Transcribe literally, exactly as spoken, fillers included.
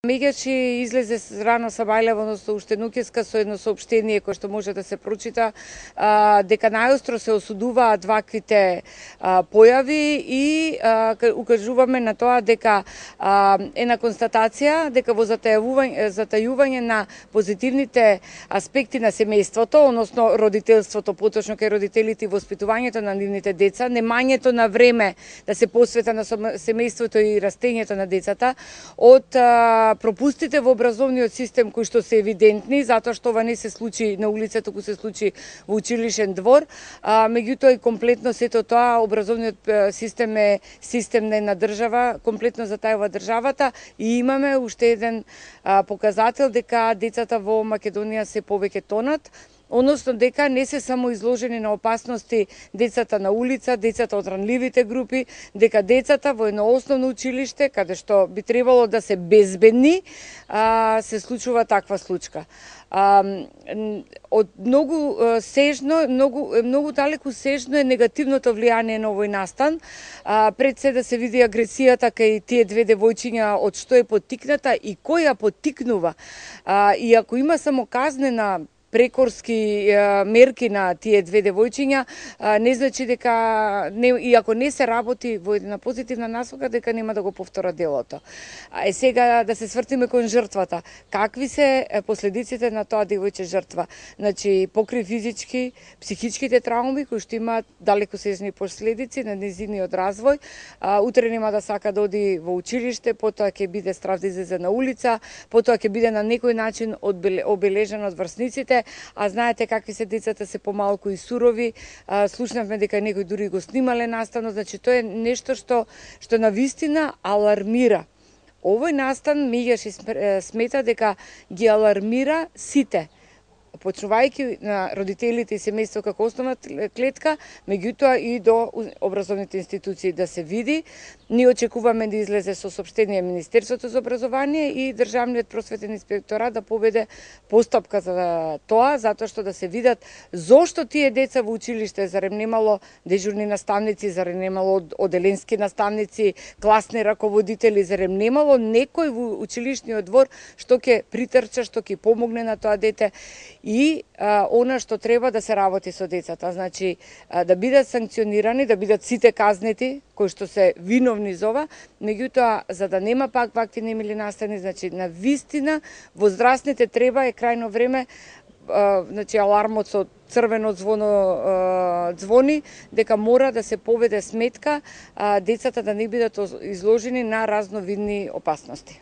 Меѓаш излезе рано Сабајлево, односно уште ноќеска, со едно соопштение кое што може да се прочита, а, дека најостро се осудуваат ваквите а, појави и а, укажуваме на тоа дека а, е на констатација дека во затајување, затајување на позитивните аспекти на семејството, односно родителството, поточно кај родителите и воспитувањето на нивните деца, немањето на време да се посвета на семејството и растењето на децата, од а, пропустите во образовниот систем кои што се евидентни, затоа што ова не се случи на улица, туку се случи во училишен двор, а, меѓутоа и комплетно сето тоа образовниот систем е систем на една држава, комплетно затајува државата и имаме уште еден а, показател дека децата во Македонија се повеќе тонат, односно дека не се само изложени на опасности децата на улица, децата од ранливите групи, дека децата во едно основно училиште, каде што би требало да се безбедни, а, се случува таква случка. А, од многу сежно, многу, многу далеку сежно е негативното влијание на овој настан. А, пред се да се види агресијата кај тие две девојчиња, од што е поттикната и кој ја поттикнува. А, и ако има само казнена прекорски мерки на тие две девојчиња, не значи дека, не, и ако не се работи во една позитивна насока, дека нема да го повтора делото. Е сега да се свртиме кон жртвата. Какви се последиците на тоа девојче жртва? Значи, покри физички, психичките трауми, кои што имаат далекосежни последици на незиниот развој, утре нема да сака да оди во училиште, потоа ќе биде страв да излезе на улица, потоа ќе биде на некој начин обележен од врсниците. А знаете какви се децата, се помалку и сурови. А, слушнавме дека некои дури го снимале наставно, значи тоа е нешто што што навистина алармира. Овој настан Меѓаш смета дека ги алармира сите, почнувајќи на родителите и семејство како основна клетка, меѓутоа и до образовните институции да се види. Ние очекуваме да излезе со соопштение Министерството за образование и Државниот просветен инспекторат да поведе постапка за тоа, затоа што да се видат зошто тие деца во училиште, зарем немало дежурни наставници, зарем немало оделенски наставници, класни раководители, зарем немало некој во училишниот двор што ќе притрча, што ќе помогне на тоа дете. И а, она што треба да се работи со децата, значи а, да бидат санкционирани, да бидат сите казнети кои што се виновни за ова, меѓутоа за да нема пак вакви немили настани, значи на вистина возрастните треба е крајно време, а, значи алармот со црвено звоно а, звони, дека мора да се поведе сметка а, децата да не бидат изложени на разновидни опасности.